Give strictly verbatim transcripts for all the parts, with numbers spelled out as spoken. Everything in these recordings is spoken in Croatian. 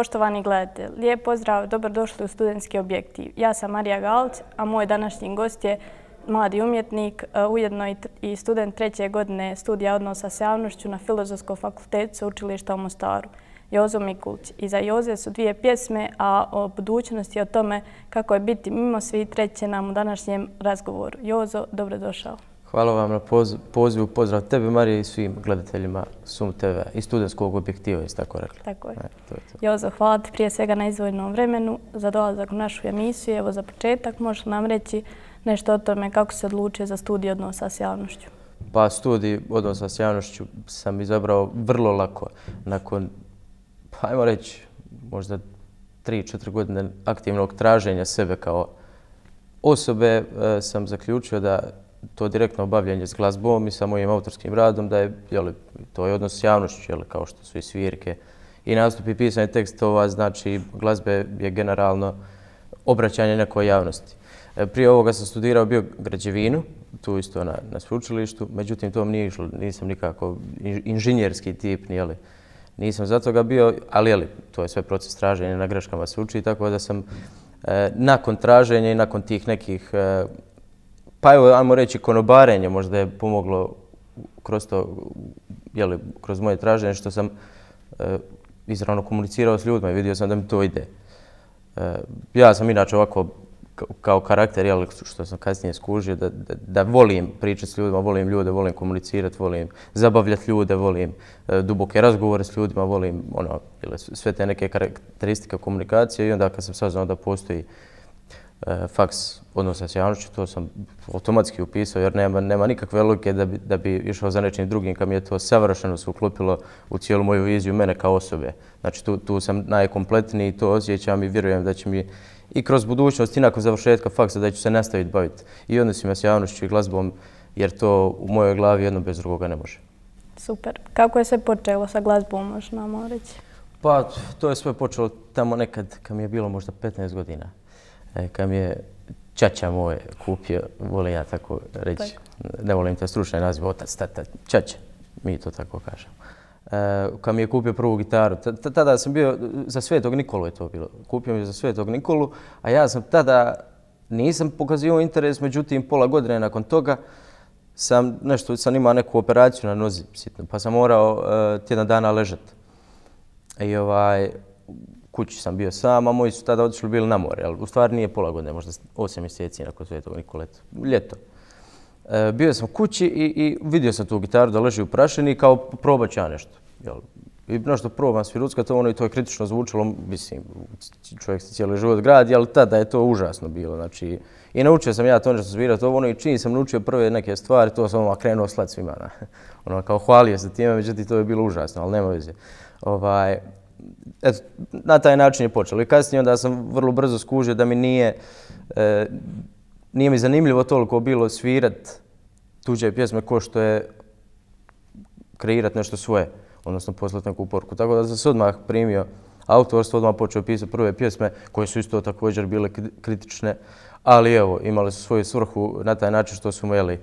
Poštovani gledatelji, lijep pozdrav, dobrodošli u Studentski objektiv. Ja sam Marija Galić, a moj današnji gost je mladi umjetnik, ujedno i student treće godine studija odnosa s javnošću na Filozofskom fakultetu Sveučilišta u Mostaru, Jozo Mikulić. Iza Joze su dvije pjesme, a o budućnosti i o tome kako je biti mimo svih treće nam u današnjem razgovoru. Jozo, dobrodošao. Hvala vam na pozivu. Pozdrav tebi, Marija, i svim gledateljima Sum te ve i Studentskog objektiva, jeste tako rekli. Tako je. Jozo, hvala ti prije svega na izdvojenom vremenu za dolazak u našu emisiju. Evo za početak, možeš nam reći nešto o tome kako se odlučio za studij odnosa s javnošću? Pa studij odnosa s javnošću sam izabrao vrlo lako. Nakon, pa ajmo reći, možda tri četiri godine aktivnog traženja sebe kao osobe, sam zaključio da to direktno obavljanje s glazbom i sa mojim autorskim radom, da je, jeli, to je odnos s javnošću, jeli, kao što su i svirke i nastupi, pisanje tekstova, znači glazbe je generalno obraćanje nekoj javnosti. Prije ovoga sam studirao bio građevinu, tu isto na, na sveučilištu, međutim to mi nije išlo, nisam nikako inženjerski tip, jeli, nisam za toga bio, ali jeli, to je sve proces traženja, na greškama se uči, tako da sam eh, nakon traženja i nakon tih nekih eh, pa evo, ajmo reći, konobarenje možda je pomoglo kroz to, jeli, kroz moje traženje, što sam e, izravno komunicirao s ljudima i vidio sam da mi to ide. E, ja sam inače ovako kao karakter, jeli, što sam kasnije skužio, da, da, da volim pričati s ljudima, volim ljude, volim komunicirati, volim zabavljati ljude, volim e, duboke razgovore s ljudima, volim ono, jeli, sve te neke karakteristike komunikacije i onda kad sam saznao da postoji faks odnosa s javnošću, to sam automatski upisao jer nema, nema nikakve logike da bi, da bi išao za nečim drugim kad mi je to savršeno se uklopilo u cijelu moju viziju mene kao osobe. Znači tu, tu sam najkompletniji i to osjećam i vjerujem da će mi i kroz budućnost i nakon završetka faksa da ću se nastaviti baviti i odnosima s javnošću i glazbom jer to u mojoj glavi jedno bez drugoga ne može. Super. Kako je sve počelo sa glazbom, možeš nam reći? Pa to je sve počelo tamo nekad kad mi je bilo možda petnaest godina. Kad mi je ćaća moj kupio, volim ja tako reći, ne volim te stručne nazive, otac, tata, ćaća, mi to tako kažemo. Kad mi je kupio prvu gitaru, tada sam bio, za Svetog Nikolu je to bilo, kupio mi za Svetog Nikolu, a ja sam tada, nisam pokazivao interes, međutim pola godine nakon toga sam nešto, sam imao neku operaciju na nozi, sitno, pa sam morao tjedan dana ležati. I ovaj, kući sam bio sam, a moji su tada otišli bili na more, ali u stvari nije pola godine, možda osam mjeseci nakon Svetog Nikole, ljeto. E, bio sam kući i, i vidio sam tu gitaru da leži u prašini kao probat ću ja nešto. Jel? I nešto probam sviruckat ono i to je kritično zvučalo, mislim, čovjek se cijeli život gradi, ali tada je to užasno bilo. Znači, i naučio sam ja to nešto svirati ono i čim sam naučio prve neke stvari, to sam krenuo slat svima. Ono, kao hvalio se time, međutim to je bilo užasno, ali nema veze. Ovaj, Eto, na taj način je počelo. I kasnije onda sam vrlo brzo skužio da mi nije, e, nije mi zanimljivo toliko bilo svirat tuđe pjesme ko što je kreirat nešto svoje, odnosno poslati neku poruku. Tako da sam se odmah primio autorstvo, odmah počeo pisati prve pjesme koje su isto također bile kritične, ali evo, imali su svoju svrhu na taj način što su jeli,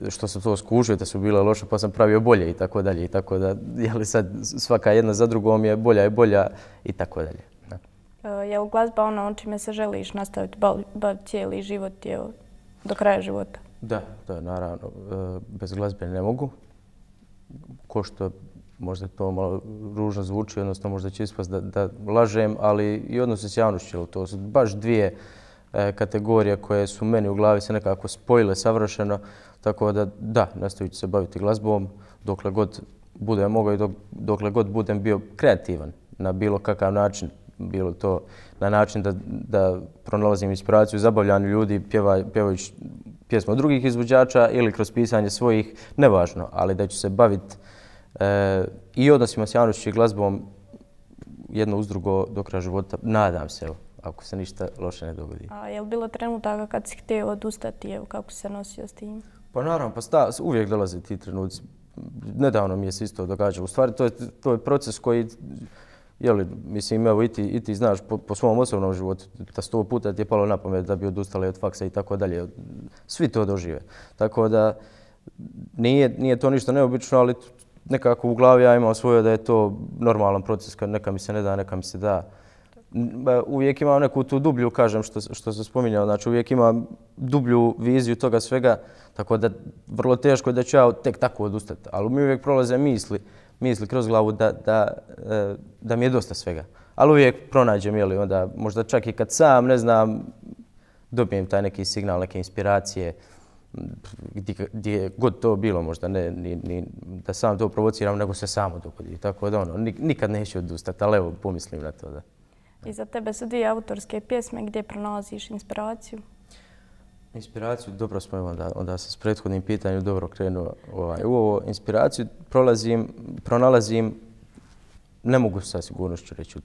što sam to skužio da su bile loše, pa sam pravio bolje i tako dalje. I tako da, jeli sad svaka jedna za drugom je bolja i bolja i tako dalje. Je li glazba ono čime se želiš nastaviti baviti cijeli život, evo, do kraja života? Da, da, naravno. Bez glazbe ne mogu. Ko što možda to malo ružno zvuči, odnosno možda će ispast da, da lažem, ali i odnose s javnošću. To su baš dvije kategorije koje su meni u glavi se nekako spojile savršeno, tako da da, nastavit ću se baviti glazbom dokle god budem mogao i dok, dokle god budem bio kreativan na bilo kakav način, bilo to na način da, da pronalazim inspiraciju, zabavljanju ljudi pjeva, pjevajući pjesme od drugih izvođača ili kroz pisanje svojih, nevažno, ali da ću se baviti e, i odnosima s javnošću i glazbom jedno uz drugo do kraja života, nadam se, evo, ako se ništa loše ne dogodi. A je li bilo trenutaka kad si htio odustati, evo, kako si se nosio s tim? Pa naravno, pa sta, uvijek dolaze ti trenuci. Nedavno mi je se isto događalo. U stvari, to je, to je proces koji, jeli, mislim, evo, i ti, i ti znaš po, po svom osobnom životu, da sto puta ti je palo na pamet da bi odustali od faksa i tako dalje. Svi to dožive. Tako da, nije, nije to ništa neobično, ali nekako u glavi ja imam svoje da je to normalan proces, kad neka mi se ne da, neka mi se da. uvijek imam neku tu dublju, kažem, što, što sam spominjao, znači uvijek imam dublju viziju toga svega, tako da vrlo teško je da ću ja tek tako odustati, ali mi uvijek prolaze misli, misli kroz glavu da, da, da mi je dosta svega. Ali uvijek pronađem, jeli, onda možda čak i kad sam, ne znam, dobijem taj neki signal, neke inspiracije, gdje, gdje god to bilo, možda ne ni, ni da sam to provociram, nego se samo dogodi. Tako da ono, nikad neću odustati, ali evo, pomislim na to. Da. I za tebe su dvije autorske pjesme, gdje pronalaziš inspiraciju? Inspiraciju, dobro smo, onda, onda sam s prethodnim pitanjem dobro krenuo. Ovaj, u ovo inspiraciju prolazim, pronalazim, ne mogu sa sigurnošću reći.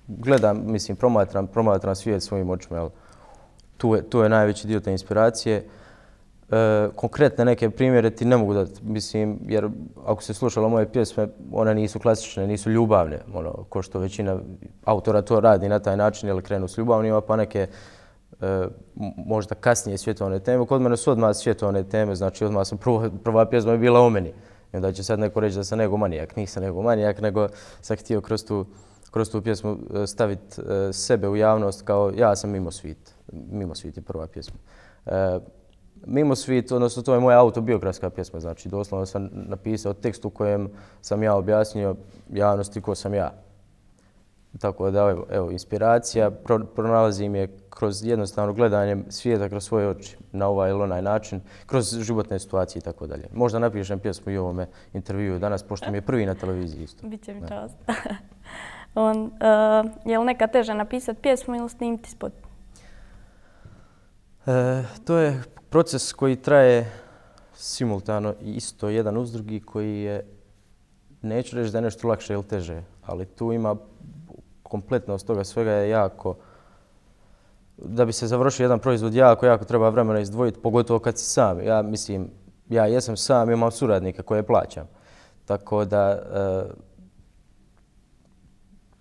Gledam, mislim, promatram, promatram svijet svojim očima, jel? Tu je, tu je najveći dio te inspiracije. E, konkretne neke primjere ti ne mogu dati, mislim, jer ako se slušalo moje pjesme, one nisu klasične, nisu ljubavne, ono, ko što većina autora to radi na taj način, jer krenu s ljubavnima, pa neke e, možda kasnije svjetovne teme. Kod mene su odmah svjetovne teme, znači odmah sam prvo, prva pjesma je bila o meni. I onda će sad neko reći da sam negomanijak. Nisam negomanijak, nego sam htio kroz tu, kroz tu pjesmu staviti e, sebe u javnost kao ja sam Mimo Svit. Mimo Svit je prva pjesma. E, Mimo Svit, odnosno to je moja autobiografska pjesma, znači doslovno sam napisao tekst u kojem sam ja objasnio javnosti ko sam ja. Tako da, evo, evo inspiracija, pro, pronalazim je kroz jednostavno gledanje svijeta kroz svoje oči, na ovaj ili onaj način, kroz životne situacije i tako dalje. Možda napišem pjesmu i ovome intervjuu danas, pošto mi je prvi na televiziji isto. Biće mi čast. On, uh, je li neka teže napisati pjesmu ili snimiti spot? E, to je proces koji traje simultano i isto jedan uz drugi, koji je, neću reći da je nešto lakše ili teže, ali tu ima kompletnost toga svega je jako, da bi se završio jedan proizvod jako, jako treba vremena izdvojiti, pogotovo kad si sam. Ja mislim, ja jesam sam, imam suradnika koje plaćam. Tako da, e,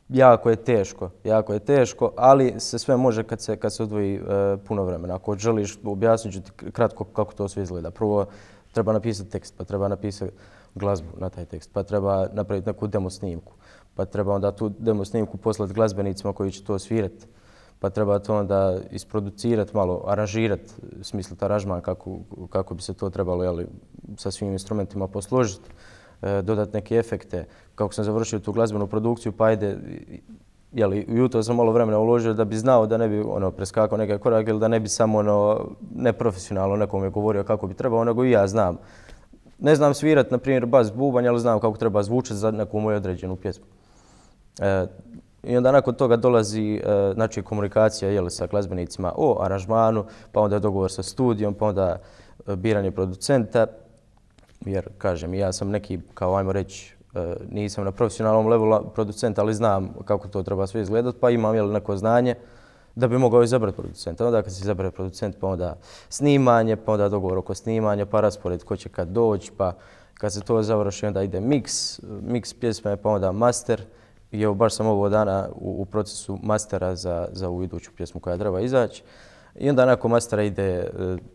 jako je teško, jako je teško, ali se sve može kad se, kad se odvoji e, puno vremena. Ako želiš, objasnit ću ti kratko kako to sve izgleda. Prvo, treba napisati tekst, pa treba napisati glazbu na taj tekst, pa treba napraviti neku demo snimku, pa treba onda tu demo snimku poslati glazbenicima koji će to svirati, pa treba to onda isproducirati malo, aranžirati, smisliti aranžman kako, kako bi se to trebalo, jeli, sa svim instrumentima posložiti, e, dodati neke efekte. Kako sam završio tu glazbenu produkciju, pa ajde, jeli, ujutro sam malo vremena uložio da bi znao da ne bi ono, preskakao neke korake ili da ne bi samo ono, neprofesionalno nekome govorio kako bi trebao, nego i ja znam. Ne znam svirati, na primjer, bas bubanj, ali znam kako treba zvučati za neku moju određenu pjesmu. E, I onda nakon toga dolazi e, znači, komunikacija jeli, sa glazbenicima o aranžmanu, pa onda dogovor sa studijom, pa onda e, biranje producenta. Jer, kažem, ja sam neki, kao ajmo reći, e, nisam na profesionalnom levelu producenta, ali znam kako to treba sve izgledati, pa imam jeli, neko znanje da bi mogao izabrati producenta. Onda kad se izabere producent, pa onda snimanje, pa onda dogovor oko snimanja, pa raspored ko će kad doći, pa kad se to završi, onda ide mix, mix pjesme, pa onda master. I evo, baš sam ovog dana u, u procesu mastera za, za ovu iduću pjesmu koja treba izaći. I onda nakon mastera ide e,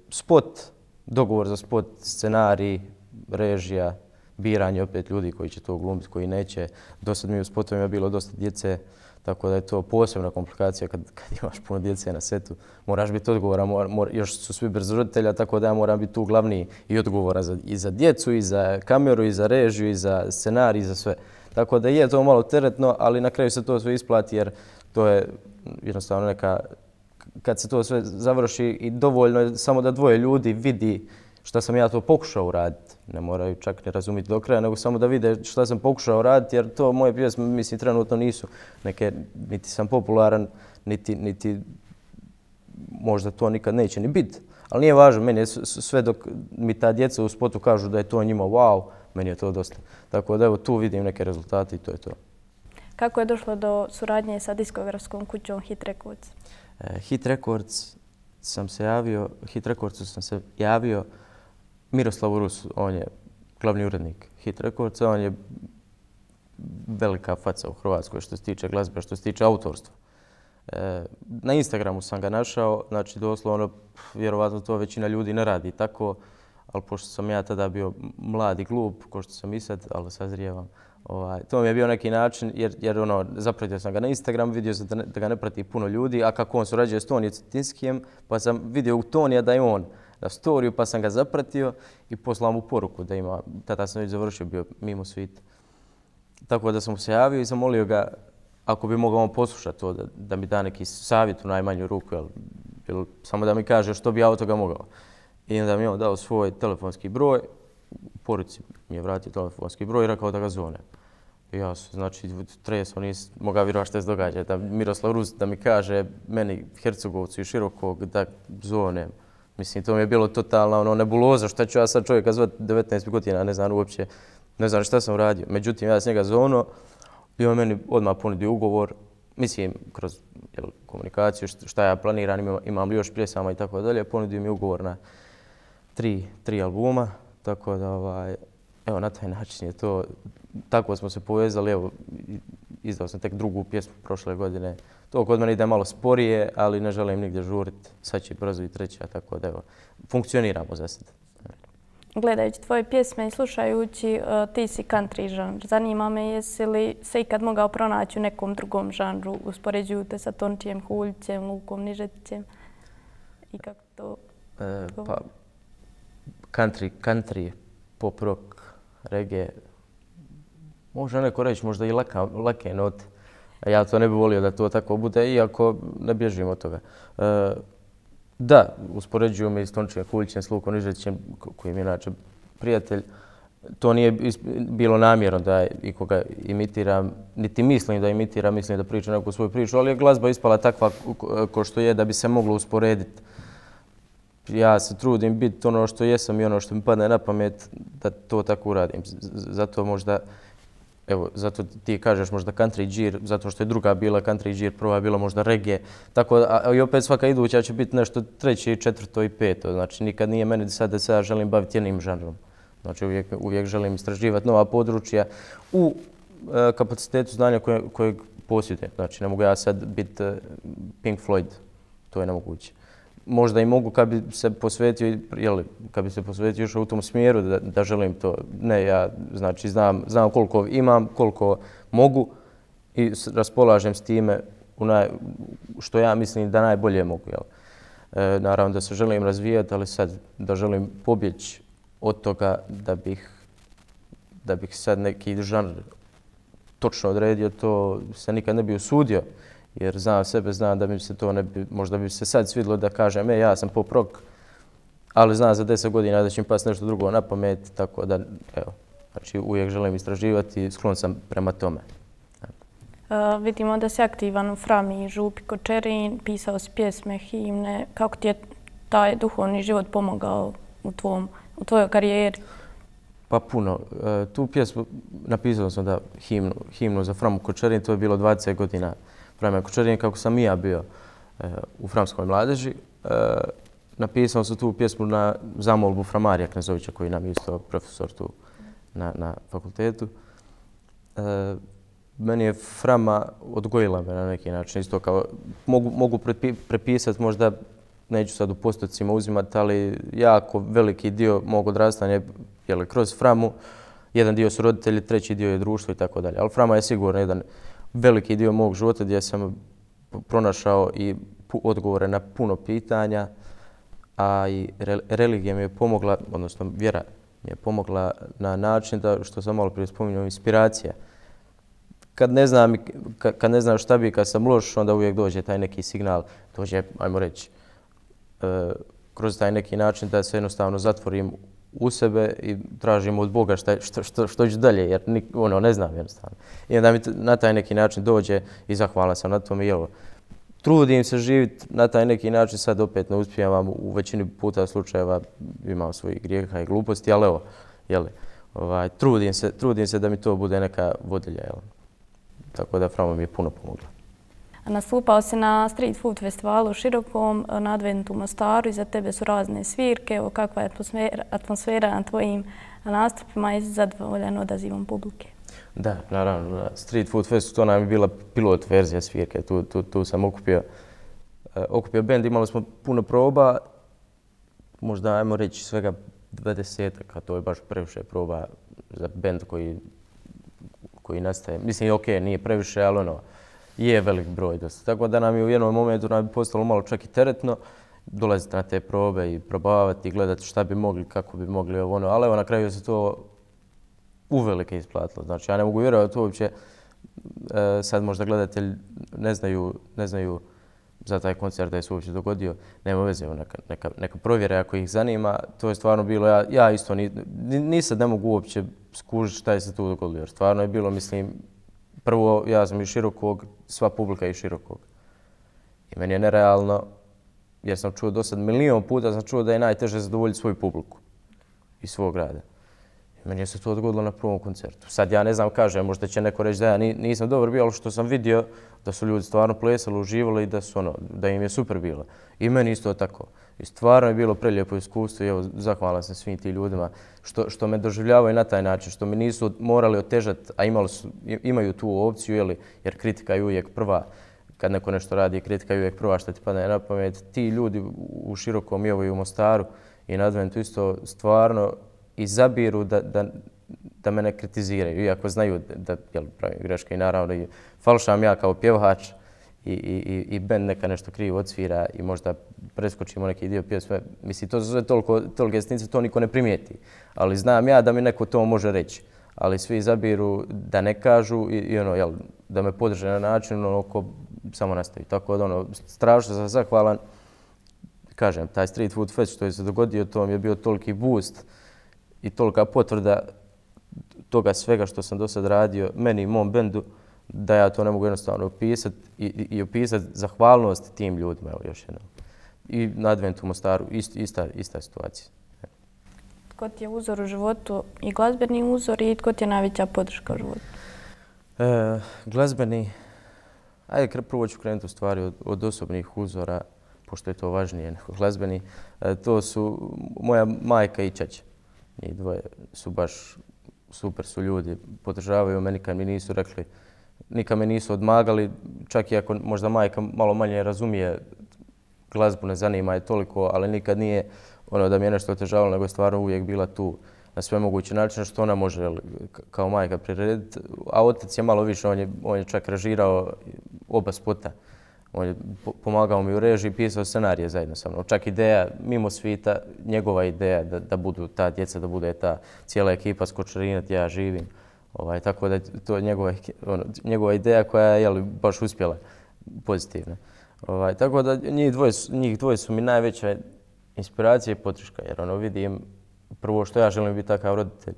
spot, dogovor za spot, scenarij, režija, biranje opet ljudi koji će to glumiti, koji neće. Dosad mi u spotovima bilo dosta djece, tako da je to posebna komplikacija kad, kad imaš puno djece na setu. Moraš biti odgovoran, mora, mora, još su svi brzo roditelja, tako da ja moram biti tu glavni i odgovora za, i za djecu, i za kameru, i za režiju, i za scenarij, i za sve. Tako da je to malo teretno, ali na kraju se to sve isplati jer to je jednostavno neka, kad se to sve završi i dovoljno je samo da dvoje ljudi vidi šta sam ja to pokušao uraditi. Ne moraju čak ne razumjeti do kraja, nego samo da vide šta sam pokušao raditi jer to moje pjesme, mislim, trenutno nisu neke, niti sam popularan, niti, niti možda to nikad neće ni biti. Ali nije važno, meni je sve dok mi ta djeca u spotu kažu da je to njima wow, meni je to dosta. Tako da evo tu vidim neke rezultate i to je to. Kako je došlo do suradnje sa diskografskom kućom Hit Records? E, Hit Records sam se javio, Hit Recordsu sam se javio Miroslavu Rusu, on je glavni urednik Hit Recordsa, on je velika faca u Hrvatskoj što se tiče glazbe, što se tiče autorstva. E, na Instagramu sam ga našao, znači doslovno, vjerovatno to većina ljudi ne radi tako, ali pošto sam ja tada bio mlad i glup, ko što sam i sad, ali sazrijevam, ovaj, to mi je bio neki način, jer, jer ono, zapratio sam ga na Instagram, vidio sam da, ne, da ga ne prati puno ljudi, a kako on surađuje s Tonijem Cetinskijem, pa sam vidio u Tonija da je on na storiju, pa sam ga zapratio i poslao mu poruku da ima, tada sam već završio, bio mimo svita. Tako da sam mu se javio i zamolio ga ako bi mogao on poslušati to, da, da mi da neki savjet u najmanju ruku, jel, jel, samo da mi kaže što bi ja od toga mogao. I onda mi je on dao svoj telefonski broj, u poruci mi je vratio telefonski broj i rekao da ga zovnem. I ja sam, znači, tresao, nisam mogao vjerovati što se događa. Da Miroslav Rus da mi kaže meni, Hercegovcu i Širokog, da zovnem. Mislim, to mi je bilo totalna ono, nebuloza, šta ću ja sad čovjeka zvati devetnaest godina, ne znam uopće, ne znam šta sam radio. Međutim, ja sam njega zovno i on meni odmah ponudio ugovor, mislim, kroz jel, komunikaciju, šta ja planiram, imam, imam li još pjesama i tako dalje, ponudio mi ugovor na tri, tri albuma, tako da, ovaj, evo, na taj način je to, tako smo se povezali, evo, izdao sam tek drugu pjesmu prošle godine. To kod mene ide malo sporije, ali ne želim nigdje žuriti, sad će brzo i treća, tako da, evo, funkcioniramo za sad. Gledajući tvoje pjesme i slušajući, uh, ti si country žanr. Zanima me jesi li se ikad mogao pronaći u nekom drugom žanru, uspoređuju te sa Tončijem Huljićem, Lukom Nižetićem i kako to... E, pa, country, country, pop rock, reggae, može neko reći možda i laka, lake note. Ja to ne bih volio da to tako bude, iako ne bježim od toga. E, Da, uspoređuju me i s Tončijem Huljićem, s Lukom Nižetićem, koji mi je inače prijatelj. To nije bilo namjerno da ikoga imitiram, niti mislim da imitiram, mislim da pričam neku svoju priču, ali je glazba ispala takva ko što je da bi se moglo usporediti. Ja se trudim biti ono što jesam i ono što mi padne na pamet da to tako uradim. Zato možda, evo, zato ti kažeš možda country džir, zato što je druga bila country džir, prva je bila možda reggae. Tako, a i opet svaka iduća će biti nešto treće, četvrto i peto. Znači, nikad nije meni sad da se ja želim baviti jednim žanrom. Znači, uvijek, uvijek želim istraživati nova područja u e, kapacitetu znanja koje, kojeg posjedujem. Znači, ne mogu ja sad biti e, Pink Floyd, to je nemoguće. Možda i mogu kad bi se posvetio, jeli, kad bi se posvetio još u tom smjeru da, da želim to. Ne, ja znači znam, znam koliko imam, koliko mogu i raspolažem s time u naj, što ja mislim da najbolje mogu. Jel. E, naravno da se želim razvijati, ali sad da želim pobjeći od toga da bih, da bih sad neki žanr točno odredio, to se nikad ne bi usudio. Jer znam sebe, znam da bi se to ne bi, možda bi se sad svidilo da kažem, e, ja sam pop rock, ali znam za deset godina da će mi pasti nešto drugo na pamet, tako da, evo, znači uvijek želim istraživati i sklon sam prema tome. Uh, vidimo da si aktivan u Frami, Župi, Kočerin, pisao si pjesme, himne. Kako ti je taj duhovni život pomogao u, tvom, u tvojoj karijeri? Pa puno. E, tu pjesmu napisao sam da himnu, himnu za Framu Kočerin, to je bilo dvadeset godina Frame Kočerin, kako sam i ja bio e, u Framskoj mladeži. E, napisao sam tu pjesmu na zamolbu Framarija Knezovića, koji nam je isto profesor tu na, na fakultetu. E, meni je Frama odgojila me na neki način. Isto kao, mogu, mogu prepi, prepisati, možda neću sad u postocima uzimati, ali jako veliki dio mog odrastanja je kroz Framu. Jedan dio su roditelji, treći dio je društvo i tako dalje. Ali Frama je sigurno jedan veliki dio mog života gdje sam pronašao i odgovore na puno pitanja, a i religija mi je pomogla, odnosno vjera mi je pomogla na način da, što sam malo prije spominjao, inspiracija. Kad ne znam, kad ne znam šta bi, kad sam loš, onda uvijek dođe taj neki signal, dođe, ajmo reći, kroz taj neki način da se jednostavno zatvorim u sebe i tražim od Boga šta, što, što, što ću dalje, jer nik, ono, ne znam jednostavno. I onda mi na taj neki način dođe i zahvalan sam na tome. Jel, trudim se živjeti na taj neki način, sad opet ne uspijevam, u većini puta slučajeva imam svojih grijeha i gluposti, ali evo, jel, ovaj, trudim, se, trudim se da mi to bude neka vodilja. Jel. Tako da Frama mi je puno pomogla. Nastupao si na Street Food festivalu u Širokom, na Adventu u Mostaru, iza tebe su razne svirke. Evo, kakva je atmosfera, atmosfera na tvojim nastupima i zadovoljan odazivom publike? Da, naravno. Na Street Food festu to nam je bila pilot verzija svirke. Tu, tu, tu sam okupio, uh, okupio bend, imali smo puno proba, možda ajmo reći svega dvadesetak, a to je baš previše proba za bend koji, koji nastaje. Mislim, ok, nije previše, ali ono, je velik broj dosta. Tako da nam je u jednom momentu nam je postalo malo čak i teretno dolaziti na te probe i probavati i gledati šta bi mogli, kako bi mogli ovo ono. Ali evo na kraju se to uvelike isplatilo. Znači, ja ne mogu vjerovati to uopće. E, sad možda gledatelj ne znaju, ne znaju za taj koncert da je se uopće dogodio. Nema veze, neka, neka, neka provjere ako ih zanima. To je stvarno bilo, ja, ja isto ni, ni sad ne mogu uopće skužiti šta je se tu dogodilo. Jer stvarno je bilo, mislim, prvo ja sam iz Širokog, sva publika je iz Širokog. I meni je nerealno, jer sam čuo do sad milijon puta, sam čuo da je najteže zadovoljiti svoju publiku iz svog grada. I meni je se to dogodilo na prvom koncertu. Sad ja ne znam, kažem, možda će neko reći da ja nisam dobar bio, ali što sam vidio da su ljudi stvarno plesali, uživali i da, su, ono, da im je super bilo. I meni isto tako. I stvarno je bilo prelijepo iskustvo i evo, zahvalan sam svim tim ljudima što, što me doživljavaju na taj način, što mi nisu morali otežati, a imali su, imaju tu opciju, jeli, jer kritika je uvijek prva. Kad neko nešto radi, kritika je uvijek prva što ti padne na pamet. Ti ljudi u Širokom i evo i u Mostaru i na Adventu isto stvarno izabiru da, da, da me ne kritiziraju, iako znaju da, da jel, pravim greške i naravno i falšam ja kao pjevač i, i, i bend neka nešto krivo odsvira i možda preskočimo neki dio pjesme. Mislim, to su sve toliko, tolike sitnice, to niko ne primijeti. Ali znam ja da mi neko to može reći. Ali svi izabiru da ne kažu i, i ono, jel, da me podrže na način ono ko samo nastavi. Tako da ono, strašno sam zahvalan. Kažem, taj Street Food Fest što je se dogodio, to mi je bio toliki boost i tolika potvrda toga svega što sam do sad radio, meni i mom bendu, da ja to ne mogu jednostavno opisati i, i, i opisati zahvalnost tim ljudima, evo još jednom. I na Adventu u Mostaru, ist, ista, ista situacija. Tko ti je uzor u životu i glazbeni uzor i tko ti je najveća podrška u životu? E, glazbeni, ajde prvo ću krenuti u stvari od, od osobnih uzora, pošto je to važnije nego glazbeni. E, to su moja majka i ćaća. Njih dvoje su baš super su ljudi, podržavaju me, nikad mi nisu rekli, nikad me nisu odmagali, čak i ako možda majka malo manje razumije glazbu, ne zanima je toliko, ali nikad nije ono da mi je nešto otežavalo, nego je stvarno uvijek bila tu na sve moguće načine što ona može kao majka prirediti. A otac je malo više, on je, on je čak režirao oba spota. On je pomagao mi u režiji, pisao scenarije zajedno sa mnom. Čak ideja, mimo svita, njegova ideja da, da budu ta djeca, da bude ta cijela ekipa s Kočarina gdje ja živim. Ovaj, tako da je to njegova, ono, njegova ideja koja je jel, baš uspjela pozitivna. Ovaj, tako da njih dvoje, njih dvoje su mi najveća inspiracija i podrška, jer ono vidim prvo što ja želim biti takav roditelj,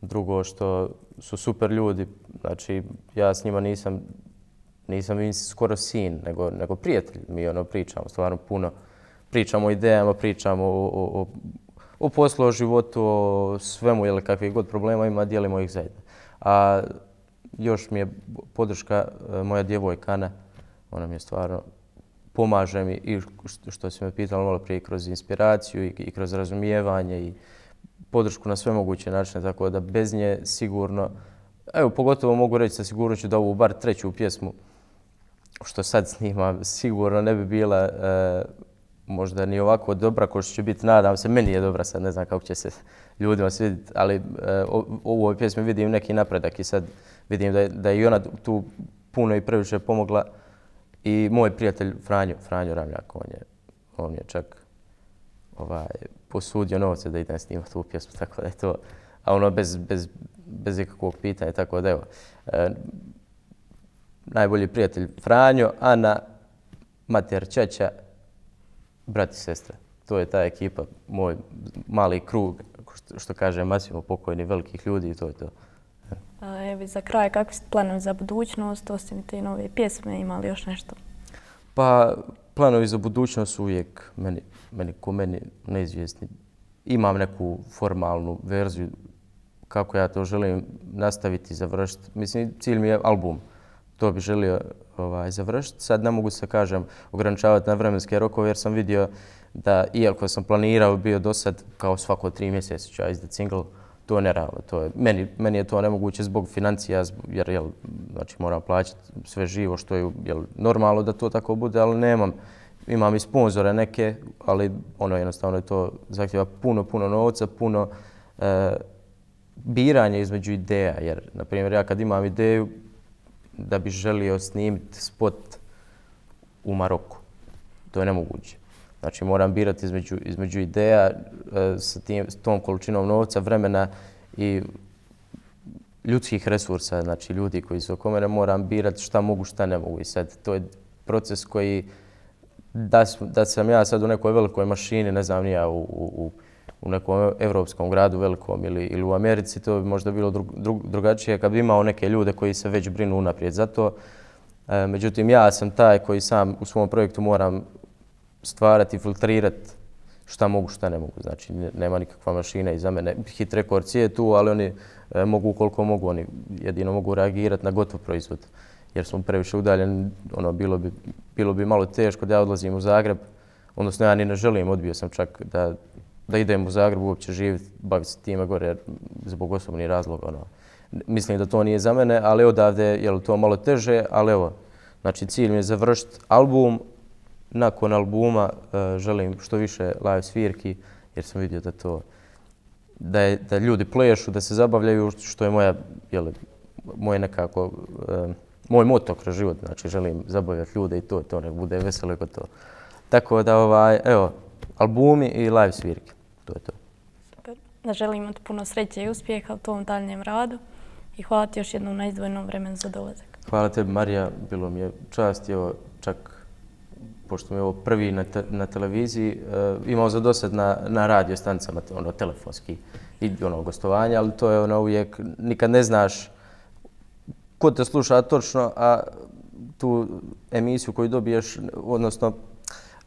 drugo što su super ljudi, znači ja s njima nisam Nisam im skoro sin, nego, nego prijatelj. Mi ono pričamo stvarno puno. Pričamo o idejama, pričamo o, o, o poslu, o životu, o svemu, jel, kakvih god problema ima, dijelimo ih zajedno. A još mi je podrška moja djevojka Ana. Ona mi je stvarno pomaže mi i što si me pitala malo prije kroz inspiraciju i, i kroz razumijevanje i podršku na sve moguće načine, tako da bez nje sigurno, evo pogotovo mogu reći sa sigurnošću da ovu bar treću pjesmu što sad snimam sigurno ne bi bila e, možda ni ovako dobra kao što će biti, nadam se, meni je dobra, sad ne znam kako će se ljudima svidjeti, ali e, u ovoj pjesmi vidim neki napredak i sad vidim da je, da je i ona tu puno i previše pomogla i moj prijatelj Franjo, Franjo Ramljak, on je, on je čak ovaj, posudio novce da idem snimati tu pjesmu, tako da je to, a ono bez, bez, bez ikakvog pitanja, tako da evo. E, najbolji prijatelj Franjo, Ana, mater, ćaća, brat i sestra. To je ta ekipa, moj mali krug, što kaže Masimo, pokojni velikih ljudi i to je to. Evo za kraj, kakvi ste planovi za budućnost, osim te nove pjesme, ima li još nešto? Pa planovi za budućnost su uvijek meni, meni ko meni neizvjesni. Imam neku formalnu verziju kako ja to želim nastaviti i završiti. Mislim, cilj mi je album. To bi želio ovaj, završiti. Sad ne mogu se, kažem, ograničavati na vremenske rokove jer sam vidio da, iako sam planirao bio do sad kao svako tri mjeseca ću ja izdati single, to je nerealno. To je, meni, meni je to nemoguće zbog financija, jer jel, znači, moram plaćati sve živo što je jel, normalno da to tako bude, ali nemam imam i sponzore neke, ali ono jednostavno je to zahtjeva puno, puno novca, puno e, biranja između ideja. Jer, na primjer, ja kad imam ideju da bi želio snimiti spot u Maroku, to je nemoguće. Znači, moram birati između, između ideja e, sa, tim, s tom količinom novca, vremena i ljudskih resursa, znači ljudi koji su oko mene, moram birati šta mogu, šta ne mogu. I sad, to je proces koji, da, da sam ja sad u nekoj velikoj mašini, ne znam ni ja, u, u, u nekom evropskom gradu velikom ili, ili u Americi, to bi možda bilo drug, drug, drugačije kad bi imao neke ljude koji se već brinu unaprijed za to. E, međutim, ja sam taj koji sam u svom projektu moram stvarati, filtrirati šta mogu, šta ne mogu. Znači, nema nikakva mašina iza mene. Hit Records je tu, ali oni e, mogu koliko mogu. Oni jedino mogu reagirati na gotov proizvod. Jer smo previše udaljeni, ono, bilo bi, bilo bi malo teško da ja odlazim u Zagreb. Odnosno, ja ni ne želim, odbio sam čak da, da idem u Zagreb uopće živjeti, baviti se time gore, jer zbog osobnih razloga. Ono. Mislim da to nije za mene, ali odavde je to malo teže, ali evo, znači cilj mi je završiti album. Nakon albuma uh, želim što više live svirki, jer sam vidio da to, da, je, da ljudi plešu, da se zabavljaju, što je moja, jel, moj nekako, uh, moj moto kroz život. Znači želim zabavljati ljude i to, to nek bude veselo i to. Tako da, ovaj, evo, albumi i live svirke, to je to. Super. Da želim ti puno sreće i uspjeha u tom daljnjem radu i hvala ti još jednom na izdvojenom vremenu za dolazak. Hvala tebi, Marija, bilo mi je čast, evo, čak pošto mi je ovo prvi na, te, na televiziji, uh, imao za dosad na, na radio stanicama, ono, telefonski i ono, gostovanja, ali to je ono uvijek, nikad ne znaš ko te sluša točno, a tu emisiju koju dobiješ, odnosno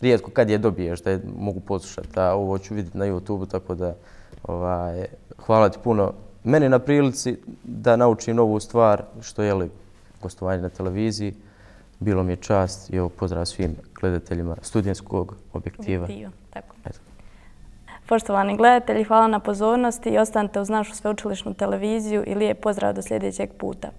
rijetko kad je dobiješ da je mogu poslušati, a ovo ću vidjeti na YouTubeu, tako da ovaj, hvala ti puno meni na prilici da naučim novu stvar, što je li gostovanje na televiziji. Bilo mi je čast i evo pozdrav svim gledateljima studentskog objektiva. Objektiva, tako. Eto. Poštovani gledatelji, hvala na pozornosti i ostanite uz našu sveučilišnu televiziju i lijep pozdrav do sljedećeg puta.